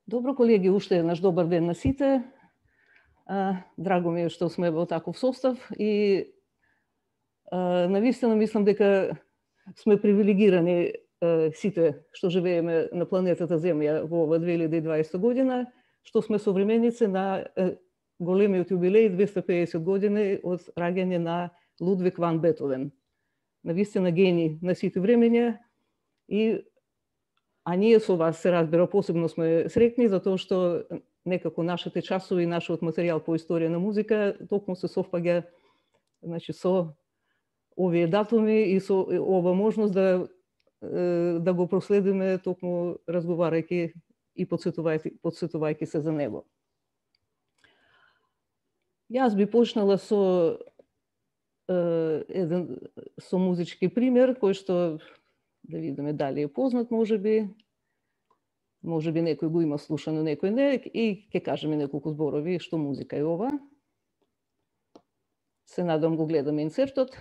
Добро, колеги, уште еднаш добар ден на сите. Драго ми е што сме во таков состав и навистина мислам дека сме привилегирани сите што живееме на планетата Земја во ова 2020 година, што сме современици на големиот јубилеј 250 години од раѓање на Лудвиг ван Бетовен. Навистина гени на сите времења а ние со вас, се разбира, посебно сме среќни затоа што некако нашите часови и нашиот материјал по историја на музика токму се совпаѓа, значи, со овие датуми и со ова можност да го проследиме токму разговарајќи и подсетувајќи се за него. Јас би почнала со музички пример кој што да видиме дали е познат, можеби некој го има слушано, некој не, и ќе кажеме неколку зборови што музика е ова. Се надам го гледаме инсертот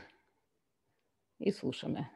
и слушаме.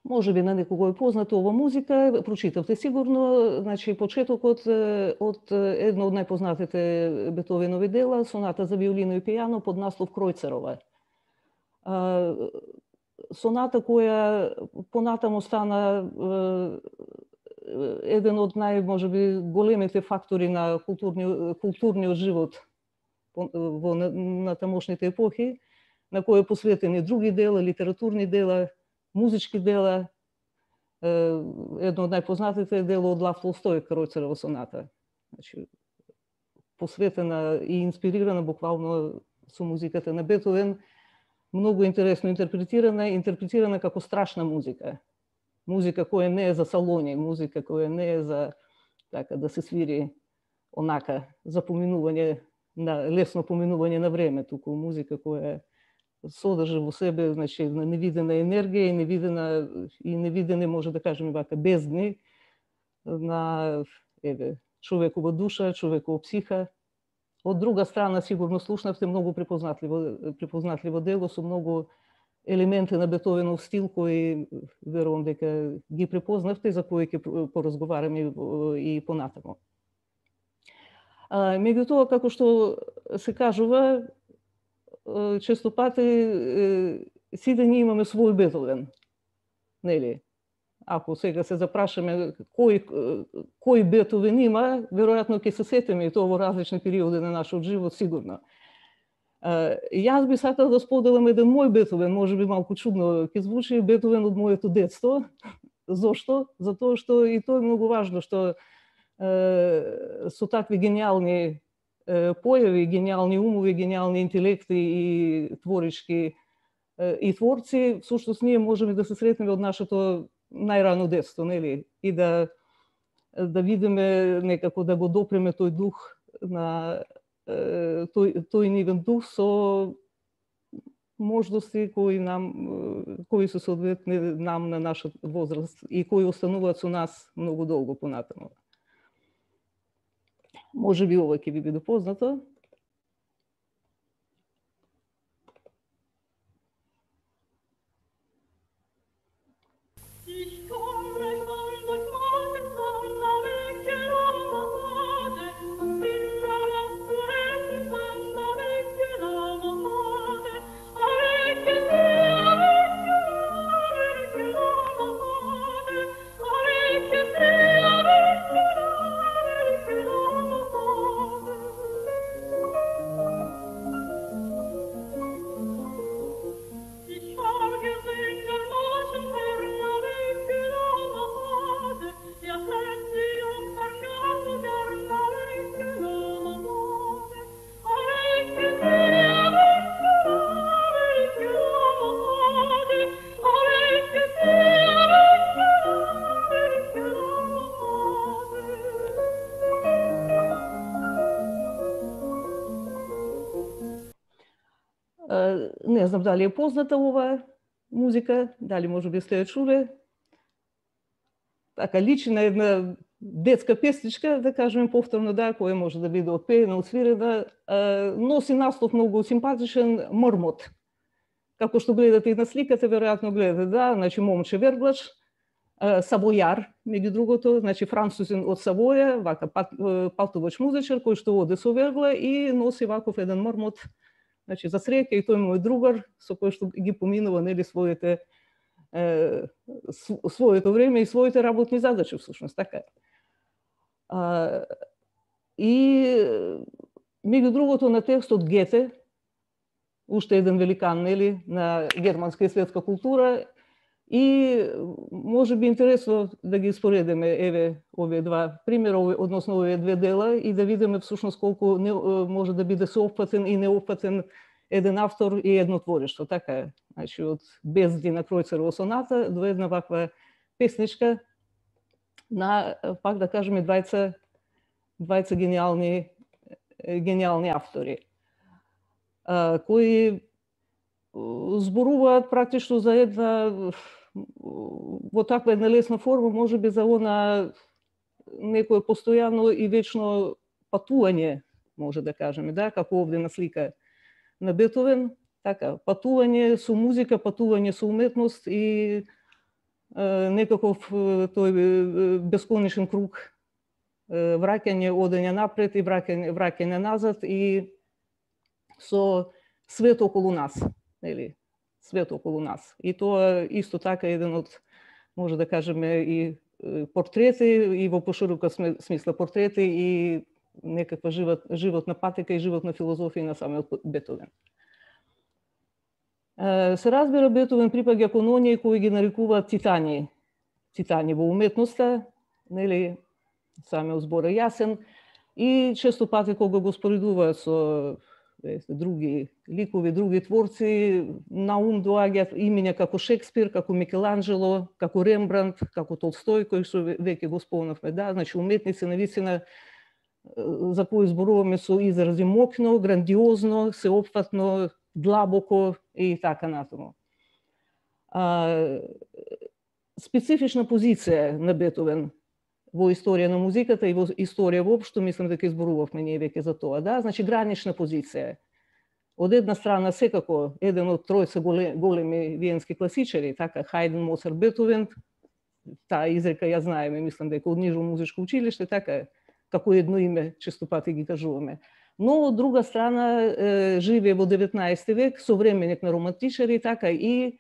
Можеби на некого е познато ова музика, прочитавте сигурно, значи почетокот од едно од најпознатите Бетовенови дела, соната за виолино и пијано под наслов Кројцерова. Соната која понатаму стана еден од можеби големите фактори на културниот живот на тамошните епохи, на кој е посветени други дела, литературни дела, музички дела. Едно од најпознатите е дело од Лав Толстој, Кројцерова соната. Значи, посветена и инспирирана буквално со музиката на Бетовен, многу интересно интерпретирана како страшна музика. Музика која не е за салони, музика која не е за така да се свири онака за лесно поминување на време, туку музика која содржи во себе, значи, невидена енергија и невидени, може да кажеме вака, бездни на човекова душа, човекова психа. Од друга страна, сигурно слушнавте многу препознатливо дело со многу елементи на Бетовенов стил кои верувам дека ги препознавте, за кои ќе поразговараме и понатамо. Меѓутоа, како што се кажува, често пати сите ние имаме свој Бетовен, нели? Ако сега се запрашаме кој Бетовен има, веројатно ќе се сетиме и тоа во различни периоди на нашиот живот, сигурно. Јас би сакала да споделам еден мој Бетовен, можеби малку чудно ќе звучи, Бетовен од моето детство. Зошто? Затоа што и тоа е многу важно, што со такви гениални појави, гениални умови, гениални интелекти и творички и творци, всушност ние можеме да се сретнеме од нашето најрано детство, нели? И да видиме некако да го допреме тој дух на тој нивен дух со можности кои се соодветни нам на нашата возраст и кои остануваат со нас многу долго понатаму. Може би ова ќе ви биде познато. Не знам дали е позната оваа музика, дали може би сте ја чуле. Така личи на една детска песничка, да кажеме повторно, да, која може да биде отпеена, отсвирена, носи наслов многу симпатичен Мрмот. Како што гледате и на сликата, веројатно гледате, да, значи момче верглач, Савојар, меѓу другото, значи французин од Савоја, вака патувач музичар кој што оде со вергла и носи ваков еден Мрмот. Значи, за среќа и тој мој другар, со кој што ги поминува, нели, своето време и своите работни задачи, всушност, така е. И, меѓу другото, на текстот Гете, уште еден великан, нели, на германска и светска култура, и може би интересно да ги споредиме, еве, овие два примера, односно овие две дела, и да видиме всушност колку може да биде соопфатен и неопфатен еден автор и едно творишто. Така е. Значи, од Безди на Кројцерова соната до една ваква песничка на, пак да кажеме, двајца гениални автори, кои зборуваат практично за една, во таква една лесна форма, може би за она некое постојано и вечно патување, може да кажеме, да, како овде на слика на Бетовен, така, патување со музика, патување со уметност и некаков тој бесконечен круг, враќање, одење напред и враќање назад и со свет околу нас, нели? Свет околу нас. И тоа исто така еден од, може да кажеме, и портрети, и во поширока смисла портрети, и некаква животна патека и животна филозофија на самиот Бетовен. Се разбира, Бетовен припаѓа кон оние кои ги нарекуваат титани. Титани во уметноста, нели, самиот збор е јасен, и често пати кога го споредуваат со други ликови, други творци, на ум доаѓаат имиња како Шекспир, како Микеланджело, како Рембрандт, како Толстој, кој што веќе го спомнавме, да, значи уметници навистина за кои зборуваме со изрази мокно, грандиозно, сеопфатно, длабоко и така натаму. Специфична позиција на Бетовен во историја на музиката и во историја воопшто, мислам дека изборувавме ние веќе за тоа, да, значи гранична позиција. од една страна секако еден од тројца големи виенски класичари, така Хајден, Моцарт, Бетовен, таа изрека ја знаеме, мислам дека од Нижо музичко училиште, така како едно име често пати ги кажуваме. Но од друга страна живее во 19 век, современик на романтичари, така и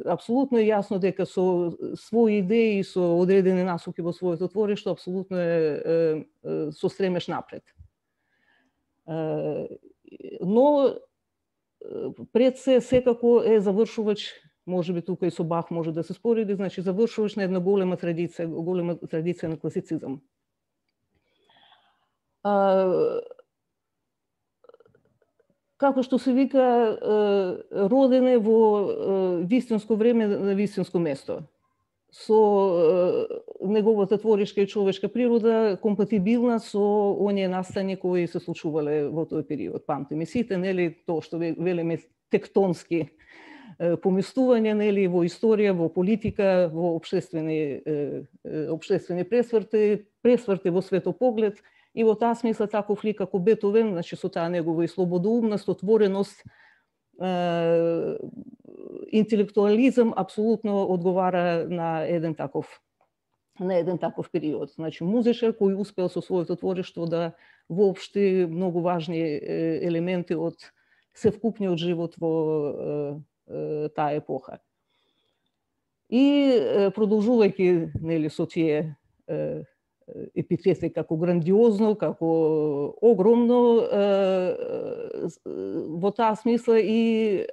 апсолутно е јасно дека со своји идеи и со одредени насоки во своето творишто апсолутно е со стремеш напред. Но пред се секако е завршувач, можеби тука и со Бах може да се спореди, значи завршувач на една голема традиција на класицизам. Како што се вика, роден е во вистинско време на вистинско место. Со неговата творишка и човечка природа компатибилна со оние настани кои се случувале во тој период. Памтиме сите, нели, тоа што велиме тектонски поместувања, нели, во историја, во политика, во општествени пресврти во светопоглед. И во таа смисла таков лик како Бетовен, значи со таа негова и слободоумност, отвореност, интелектуализам апсолутно одговара на еден таков период. Значи музичар кој успел со своето творишто да воопшти многу важни елементи од севкупниот живот во таа епоха. И продолжувајќи, нели, со тие епитети како грандиозно, како огромно, во таа смисла и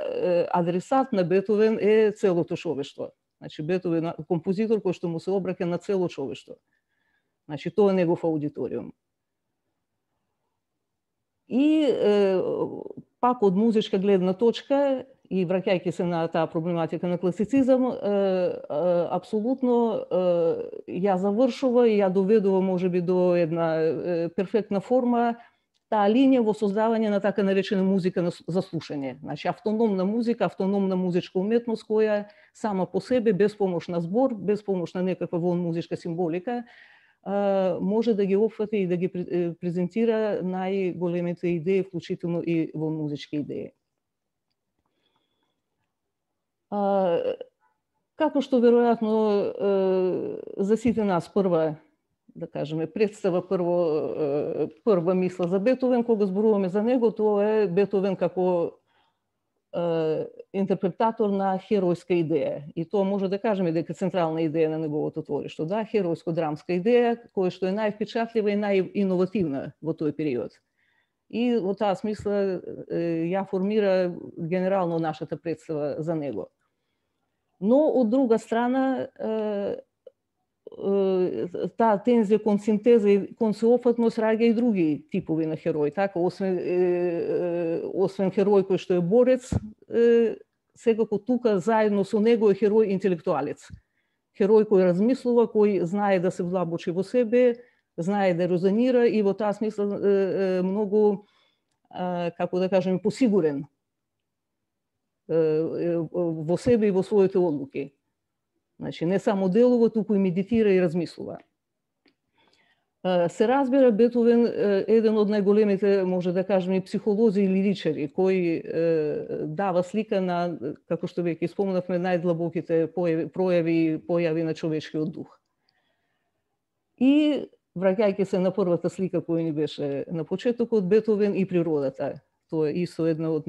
адресат на Бетовен е целото човештво. Значи Бетовен е композитор кој што му се обраќа на цело човештво. Значи тоа е негов аудиториум. И пак од музичка гледна точка и враќајќи се на таа проблематика на класицизам, апсолутно ја завршува и ја доведува можеби до една перфектна форма таа линија во создавање на така наречена музика за слушање. Значи автономна музика, автономна музичка уметност која сама по себе, без помош на збор, без помош на некаква вон музичка символика, може да ги опфати и да ги презентира најголемите идеи, вклучително и во музички идеи. Како што веројатно за сите нас прва, да кажеме, представа, прва мисла за Бетовен, кога зборуваме за него, тоа е Бетовен како интерпретатор на херојска идеја. И тоа може да кажеме дека централна идеја на неговото творишто. Да, херојско-драмска идеја, која што е највпечатлива и најиновативна во тој период. И во таа смисла ја формира генерално нашата представа за него. Но, од друга страна, таа тензија кон синтеза и кон сеопфатност раѓа и други типови на херои. Така, освен херој кој што е борец, секако тука заедно со него е херој интелектуалец. Херој кој размислува, кој знае да се влабочи во себе, знае да резонира и во таа смисла многу, како да кажеме, посигурен во себе и во своите одлуки. Значи, не само делува, туку и медитира и размислува. Се разбира, Бетовен е еден од најголемите, може да кажеме, психолози и лиричари, кој дава слика на, како што веќе спомнавме, најдлабоките појави на човечкиот дух. И, враќајќи се на првата слика која ни беше на почетокот, Бетовен и природата. Тоа е исто една од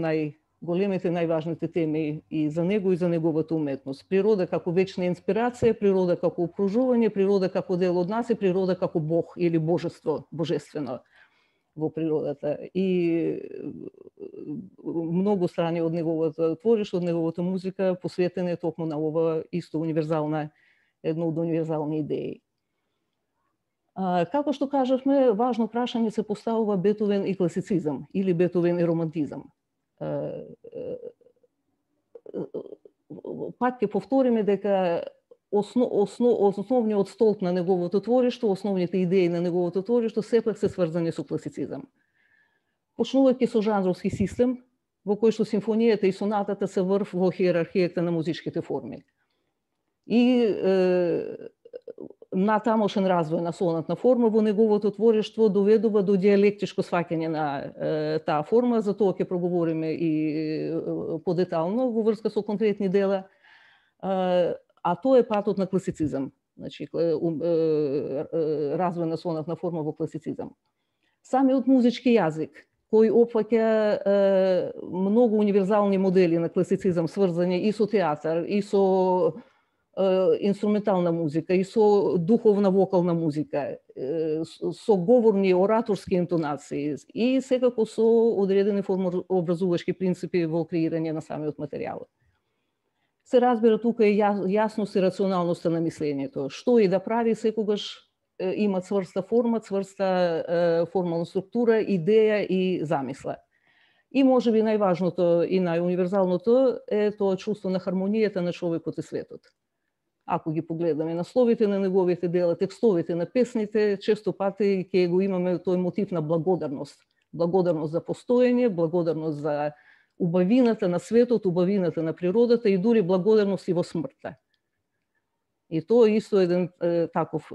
големите, најважните теми и за него и за неговата уметност. Природа како вечна инспирација, природа како окружување, природа како дел од нас и природа како Бог или божество, божествено во природата. И многу страни од неговата творишто, од неговата музика посветена е токму на ова исто универзална, едно од универзални идеи. Како што кажавме, важно прашање се поставува Бетовен и класицизам или Бетовен и романтизам. Пак ќе повториме дека основниот столб на неговото творишто, основните идеи на неговото творишто сепак се сврзани со класицизам. Почнувајќи со жанровски систем, во кој што симфонијата и сонатата се врв во хиерархијата на музичките форми. И натамошен развој на сонатна форма во неговото творештво доведува до диалектичко сваќање на таа форма, за тоа ќе проговориме и подетално во врска со конкретни дела, а тоа е патот на класицизам, значи развој на сонатна форма во класицизам. Самиот музички јазик, кој опфаќа многу универзални модели на класицизам, сврзани и со театар, и со инструментална музика, и со духовна вокална музика, со говорни ораторски интонации и секако со одредени формообразувачки принципи во креирање на самиот материјал. Се разбира тука и јасност и рационалноста на мислењето. Што и да прави, секогаш има цврста форма, цврста формална структура, идеја и замисла. И можеби најважното и најуниверзалното е тоа чувство на хармонијата на човекот и светот. Ако ги погледаме насловите на неговите дела, текстовите на песните, често пати ќе го имаме тој мотив на благодарност. Благодарност за постоење, благодарност за убавината на светот, убавината на природата и дури благодарност и во смртта. И тоа е исто еден таков,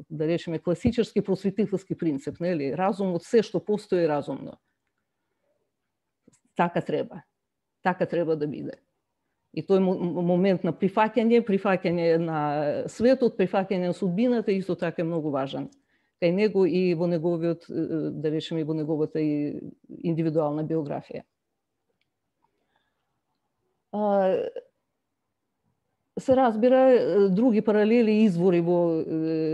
да речеме, класичарски просветителски принцип, нели? Разумот, се што постои разумно. Така треба да биде. И тој момент на прифаќање на светот, прифаќање на судбината, исто така е многу важен. Кај него и во неговиот, да речеме, и во неговата и индивидуална биографија. Се разбира, други паралели и извори во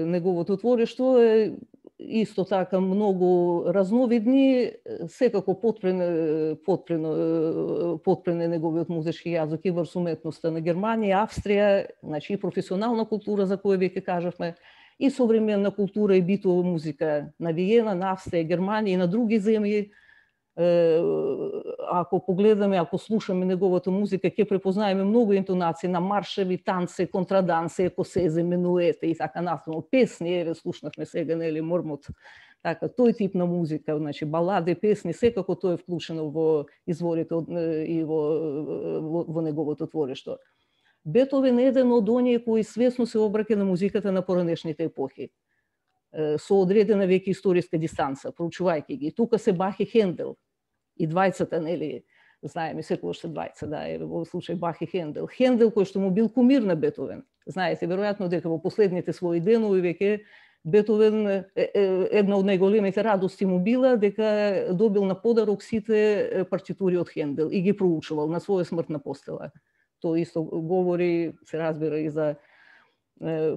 неговото творештво е исто така многу разновидни, секако потпрен е неговиот музички јазик и врз уметноста на Германија, Австрија, значи и професионална култура за која веќе кажавме, и современна култура и битова музика на Виена, на Австрија, Германија и на други земји. Ако погледаме, ако слушаме неговата музика, ќе препознаеме многу интонации на маршеви, танци, контраданси, екосези, минуете и така натаму. Песни, еве слушнавме сега, нели, Мормот, така, тој тип на музика, значи балади, песни, секако тоа е вклучено во изворите и во неговото творештво. Бетовен е еден од оние кои свесно се обраќа на музиката на поранешните епохи, со одредена веќе историска дистанца, проучувајќи ги. Тука се Бах и Хендел, и двајцата, нели, знаеме секогаш се двајца, да, во случај Бах и Хендел. Хендел кој што му бил кумир на Бетовен. Знаете веројатно дека во последните своји денови веќе Бетовен една од најголемите радости му била дека добил на подарок сите партитури од Хендел и ги проучувал на своја смртна постела. Тоа исто говори, се разбира, и за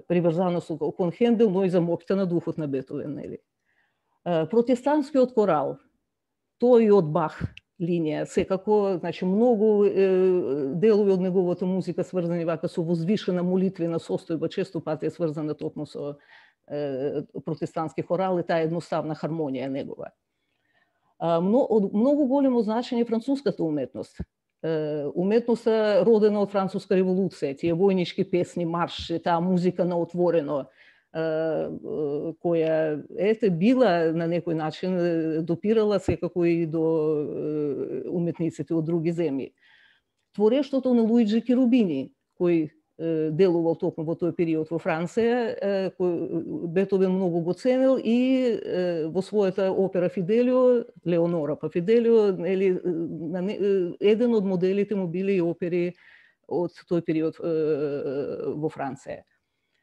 приврзаност кон Хендел, но и за моќта на духот на Бетовен, нели. Протестантскиот корал, тој и од Бах линија, секако, значи многу делови од неговата музика сврзани вака со возвишена молитвена состојба, често пати е сврзана токму со протестантски хорал и таа едноставна хармонија негова. Од многу големо значење француската уметност. Уметноста родена од Француска револуција, тие војнички песни, марши, таа музика на отворено, која била на некој начин допирала секако и до уметниците од други земји. Творештвото на Луиджи Керубини, кој делувал токму во тој период во Франција, кој Бетовен многу го ценил и во својата опера Фиделио, Леонора па Фиделио, еден од моделите му били и опери од тој период во Франција.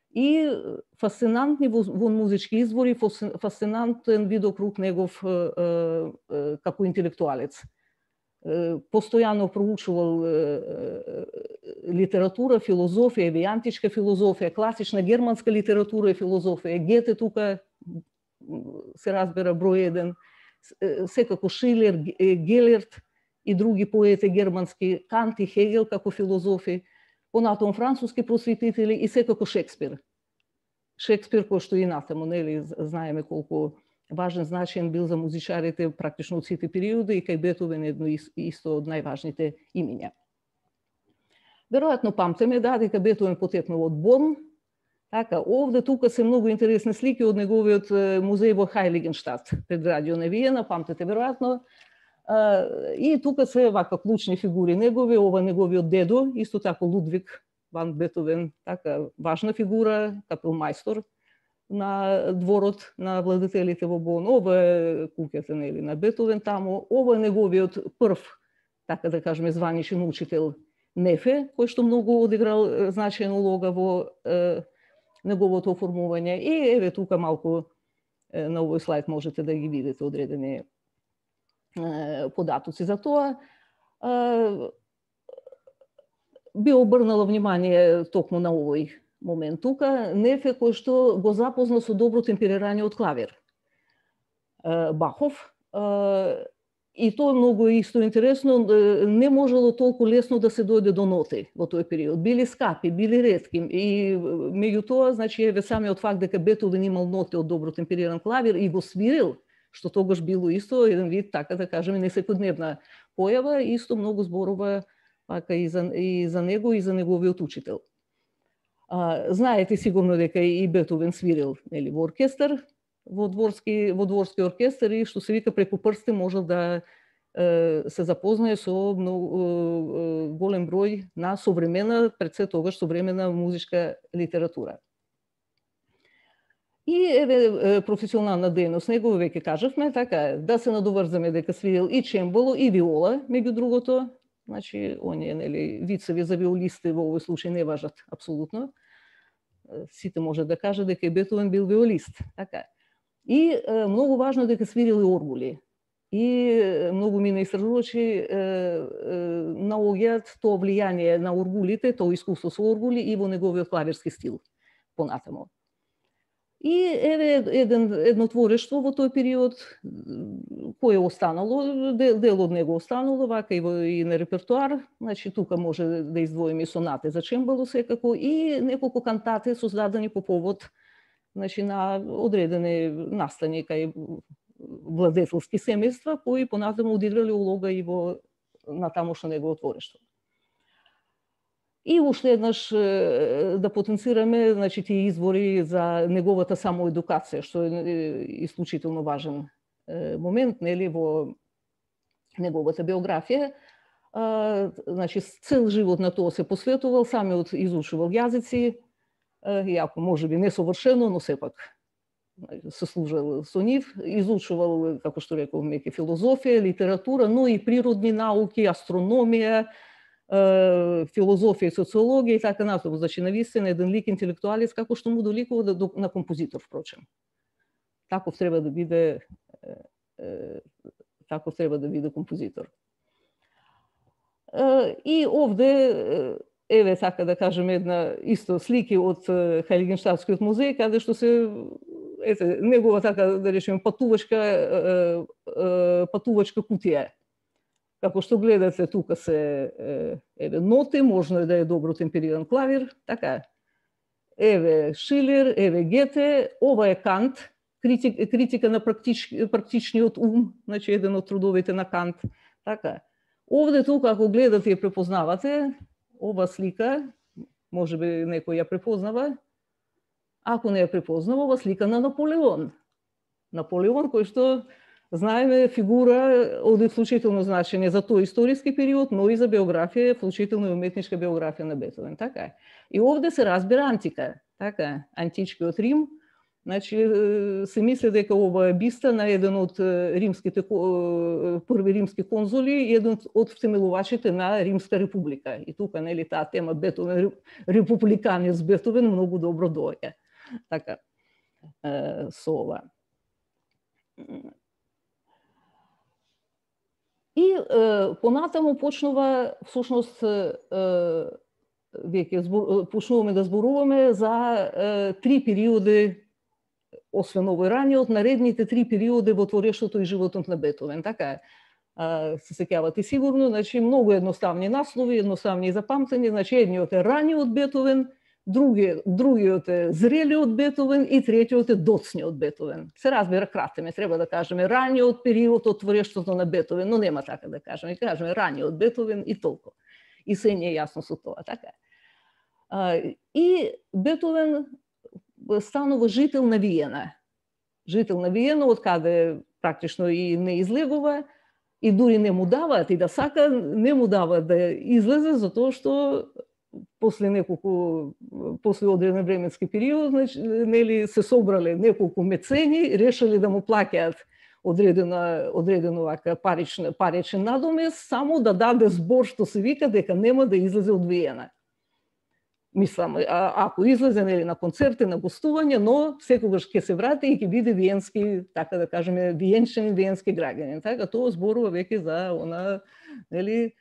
И фасцинантни во музички извори, фасцинантен видокруг негов како интелектуалец. Постојано проучувал литература, филозофија, еве античка филозофија, класична германска литература и филозофија. Гете тука се разбира број еден, секако Шилер, Гелерт и други поети германски, Кант и Хегел како филозофи, понатаму француски просветители и секако Шекспир. Шекспир кој што и натаму, нели, знаеме колку важен значаен бил за музичарите практично од сите периоди и кај Бетовен едно исто од најважните имиња. Веројатно памтиме дека Бетовен потекнал од Борн. Така, овде тука се многу интересни слики од неговиот музеј во Хајлигенштадт, предградио на Виена, памтите веројатно. И тука се вака клучни фигури негови, ова неговиот дедо, исто така Лудвиг Ван Бетовен, така, важна фигура, капелмајстор на дворот на владетелите во Бон. Ова е куќата на Бетовен таму. Ова е неговиот прв, така да кажеме, званичен учител Нефе, кој што многу одиграл значајна улога во неговото оформување. И еве тука малку на овој слайд можете да ги видите одредени податоци за тоа. Би обрнала внимание токму на овој момент тука. Нефе кој што го запозна со добро темперирањето од клавир Бахов. И тоа многу исто интересно, не можело толку лесно да се дојде до ноти во тој период. Били скапи, били ретки. И меѓутоа, значи, еве самиот факт дека Бетовен имал ноти од добро темпериран клавир и го свирил, што тогаш било исто еден вид, така да кажеме, несекојдневна појава, исто многу зборува пака и за него и за неговиот учител. Знаете сигурно дека и Бетовен свирил, нели, во оркестар, во дворски оркестар, и што се вика преку прсти можел да се запознае со голем број на современа, пред се тогаш современа музичка литература. И еве професионална дејност него веќе кажавме, така да се надоврзаме дека свирил и чембало и виола, меѓу другото. Значи, оние, нели, вицеви за виолисти во овој случај не важат апсолутно. Сите може да кажат дека и Бетовен бил виолист, така. И многу важно дека свирил и оргули. И многу мина истражувачи наоѓаат тоа влијание на оргулите, тоа искуство со оргули и во неговиот клавирски стил понатаму. И еве едно творештво во тој период кое останало, дел од него останало, вака и на репертуар. Значи тука може да издвоиме сонате за чембало секако и неколку кантати создадени по повод, значи, на одредени настани кај владетелски семејства, кои понатаму одиграле улога и во натамошно негово творештво. И уште еднаш да потенцираме, значи, тие извори за неговата самоедукација, што е исклучително важен момент, нели, во неговата биографија. Значи, цел живот на тоа се посветувал, самиот изучувал јазици, иако можеби несовршено, но сепак се служел со нив, изучувал, како што реков, меќе филозофија, литература, но и природни науки, астрономија, филозофија и социологија и така натаму. Значи, навистина еден лик интелектуалец, како што му доликува на композитор, впрочем. Таков треба да биде композитор. И овде еве, така да кажеме, една исто слики од Хајлигенштадскиот музеј, каде што се негова, така да речеме, патувачка кутија. Како што гледате, тука се еве ноти, можно да е добро темпериран клавир, така. Еве Шилер, еве Гете, ова е Кант, критика на практичниот ум, значи еден од трудовите на Кант, така. Овде тука, ако гледате и препознавате, ова слика, можеби некој ја препознава, ако не ја препознава, ова слика на Наполеон. Наполеон, кој што знаеме фигура од исклучително значење за тој историски период, но и за биографија, вклучително и уметничка биографија на Бетовен, така. И овде се разбира антика, така, античкиот Рим. Значи, се мисли дека ова е биста на еден од први римски конзули и еден од втемелувачите на Римска република. И тука, нели, таа тема Бетовен, републиканец Бетовен многу добро доаѓа. Така, со ова. И понатаму почнува, всушност, веќе почнуваме да зборуваме за три периоди, освен овој раниот, наредните три периоди во творештвото и животот на Бетовен. Така, се сеќавате сигурно, значи многу едноставни наслови, едноставни за памтење, значи едниот е раниот Бетовен, другиот е зрелиот Бетовен и третиот е доцниот Бетовен. Се разбира, кратеме, треба да кажеме раниот период од творештвото на Бетовен, но нема така да кажеме. Кажеме раниот Бетовен и толку. И се не е јасно со тоа, така. И Бетовен станува жител на Виена. Жител на Виена, од каде практично и не излегува, и дури не му даваат, и да сака, не му даваат да излезе, затоа што после одреден временски период, значи, нели се собрале неколку мецени, решили да му плаќаат одреден овака паричен надомес, само да даде збор што се вика дека нема да излезе од Виена. Мислам, ако излезе нели на концерти, на гостување, но секогаш ќе се врати и ќе биде виенски, така да кажеме, виенски граѓанин. Така тоа зборува веќе за она, нели,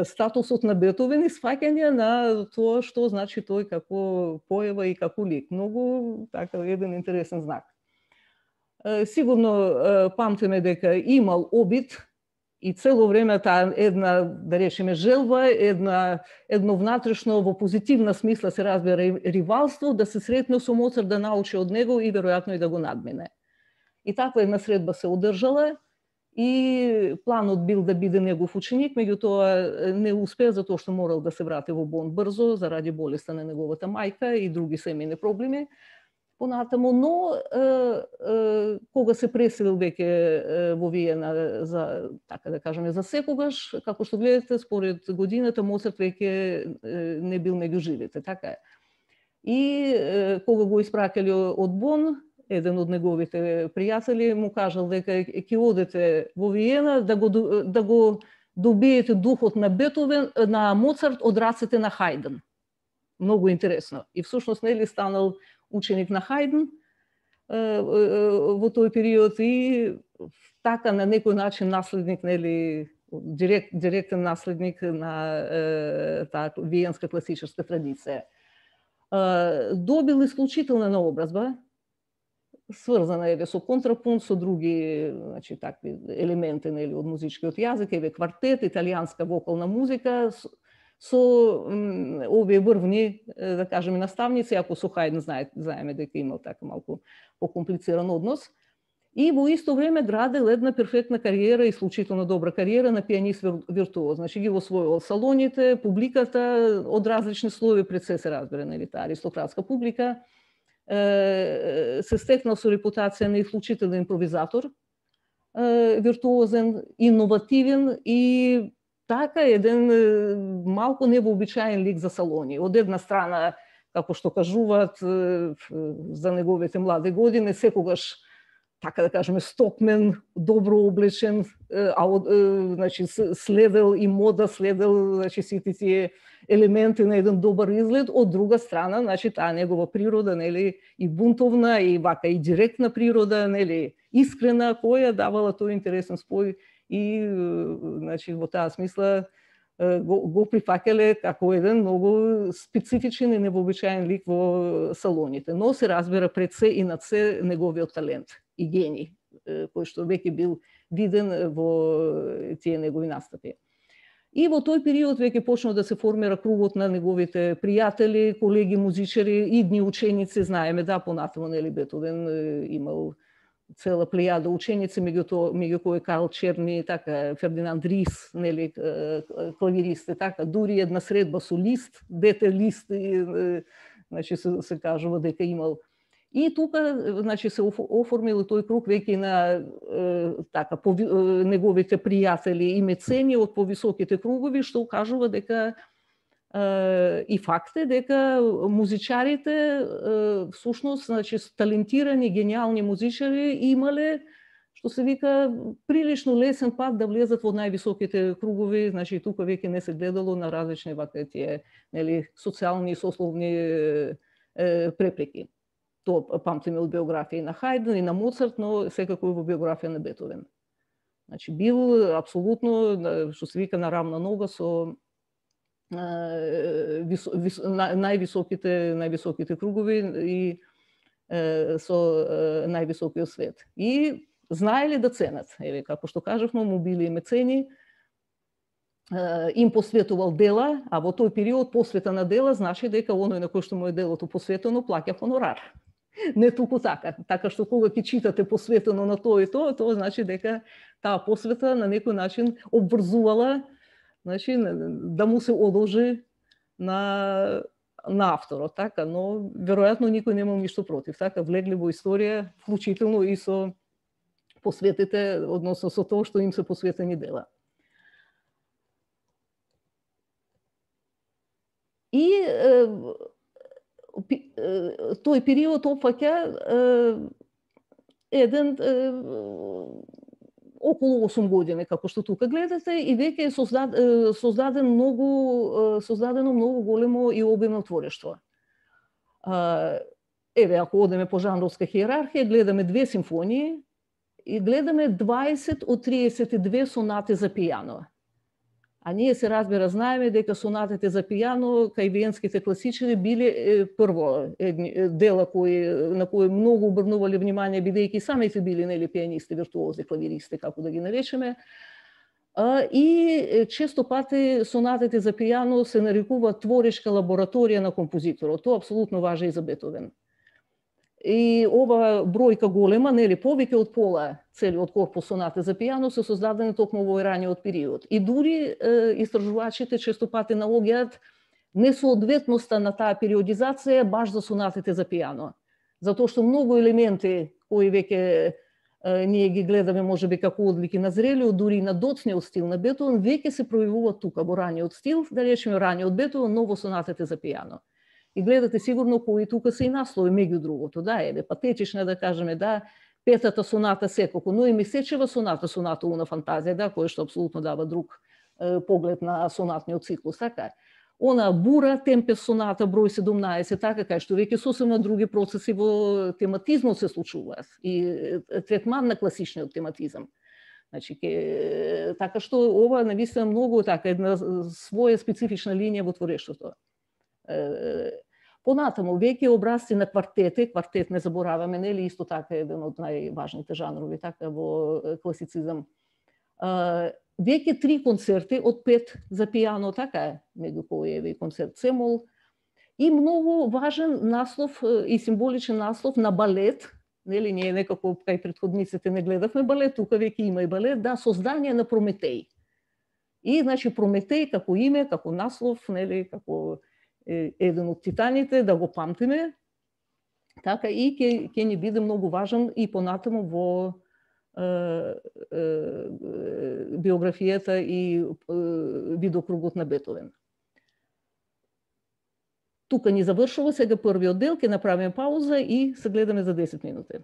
статусот на Бетовен и сваќање на тоа што значи тој како поева и како лик. Многу така еден интересен знак. Сигурно памтиме дека имал обид и цело време таа една, да речеме, желба, едно внатрешно во позитивна смисла се разбира ривалство, да се сретне со Моцарт, да научи од него и веројатно и да го надмине. И таква една средба се одржала и планот бил да биде негов ученик, меѓутоа не успеа затоа што морал да се врати во Бон брзо заради болеста на неговата мајка и други семејни проблеми. Понатаму, но кога се преселил веќе во Виена за, така да кажеме, за секогаш, како што гледате, според годината Моцарт веќе не бил меѓу живите, така е. И кога го испраќале од Бон, еден од неговите пријатели му кажал дека ќе одете во Виена да го добиете духот на Бетовен, на Моцарт од рацете на Хајден. Многу интересно. И всушност нели станал ученик на Хајден во тој период и така на некој начин наследник, нели, директен наследник на таа виенска класичарска традиција. Добил исклучителна наобразба, сврзана еве со контрапункт, со други, значи, такви елементи, нели, од музичкиот јазик, еве квартет, италијанска вокална музика, со овие врвни, да кажеме, наставници, ако со Хајден знаеме дека имал така малку покомплициран однос. И во исто време градел една перфектна кариера, исклучително добра кариера на пианист виртуоз. Значи ги освоил салоните, публиката од различни слоеви, пред се разбира, нели, таа аристократска публика. Се стекнал со репутација на исклучителен импровизатор, виртуозен, инновативен и така еден малку невообичаен лик за салони. Од една страна, како што кажуваат за неговите млади години, секогаш, така да кажеме, стокмен, добро облечен, значи следел и мода, следел, значи, сите тие елементи на еден добар изглед. Од друга страна, значи, таа негова природа, нели, и бунтовна, и вака и директна природа, нели, искрена, која давала тој интересен спој и, значи, во таа смисла го прифаќале како еден многу специфичен и невообичаен лик во салоните. Но се разбира пред се и над се неговиот талент и гений, кој што веќе бил виден во тие негови настапи. И во тој период веќе почнал да се формира кругот на неговите пријатели, колеги музичари, идни ученици, знаеме, да, понатаму, нели, Бетовен имал цела плејада ученици, меѓу кои Карл Черни, така, Фердинанд Рис, нели, клавиристи, така, дури една средба со Лист, дете Лист, значи се кажува дека имал. И тука, значи, се оформил тој круг веќе на така неговите пријатели и мецени од повисоките кругови, што кажува дека и факт е дека музичарите всушност, значи, талентирани, гениални музичари имале, што се вика, прилично лесен пат да влезат во највисоките кругови, значи тука веќе не се гледало на различни вака тие, нели, социјални и сословни препреки. Тоа памтиме од биографија на Хајден и на Моцарт, но секако и во биографија на Бетовен. Значи бил апсолутно, што се вика, на рамна нога со највисоките кругови и со највисокиот свет. И знаеле да ценат. Еве, како што кажавме, му били и мецени, им посветувал дела, а во тој период посвета на дела значи дека оној на кој што му е делото посветено плаќа хонорар. Не туку така. Така што кога ќе читате посветено на тоа и тоа значи дека таа посвета на некој начин обврзувала, значи, да му се одолжи на авторот, така, но веројатно никој немал ништо против, така, влегли во историја, вклучително и со посветите, односно со тоа што им се посветени дела. И тој период опфаќа еден околу 8 години, како што тука гледате, и веќе е создадено многу големо и обимно творештво. Еве, ако одеме по жанровска хиерархија, гледаме 2 симфонии и гледаме 20 од 32 сонати за пијано. А ние се разбира знаеме дека сонатите за пијано кај виенските класичари биле прво дела на кои многу обрнувале внимание, бидејќи самите биле нели пијанисти, виртуози, клавиристи, како да ги наречеме. И често пати сонатите за пијано се нарекуваат творешка лабораторија на композиторот. Тоа апсолутно важи и за Бетовен. И ова бројка голема, нели повеќе од пола целиот корпус сонати за пијано се создадени токму во раниот период. И дури истражувачите често пати наоѓаат несоодветноста на таа периодизација баш за сонатите за пијано. Затоа што многу елементи кои веќе ние ги гледаме можеби како одлики на зрелиот, дури и на доцниот стил на Бетовен, веќе се пројавуваат тука во раниот стил, да речеме раниот Бетовен, но во сонатите за пијано. И гледате сигурно кои тука се и наслови меѓу другото, да, еве, патетична да кажеме, да, петата соната секако, но и месечева соната Уна фантазија, да, која што апсолутно дава друг поглед на сонатниот циклус, така. Она бура, темпес соната, број 17, така, кај што веќе сосема други процеси во тематизмот се случуваат и третман на класичниот тематизам. Значи, така што ова навистина многу така една своја специфична линија во творештвото. Понатаму, веќе образци на квартет не забораваме, нели исто така еден од најважните жанрови така во класицизам. Веќе 3 концерти од 5 за пијано, така е, меѓу кои е концерт Цемол, и многу важен наслов и символичен наслов на балет, нели ние некако кај претходниците не гледавме балет, тука веќе има и балет, да, создание на Прометеј. И значи Прометеј како име, како наслов, нели, како еден од титаните, да го памтиме, така и ќе ни биде многу важен и понатаму во биографијата и видокругот на Бетовен. Тука ни завршува сега првиот дел, ќе направиме пауза и се гледаме за 10 минути.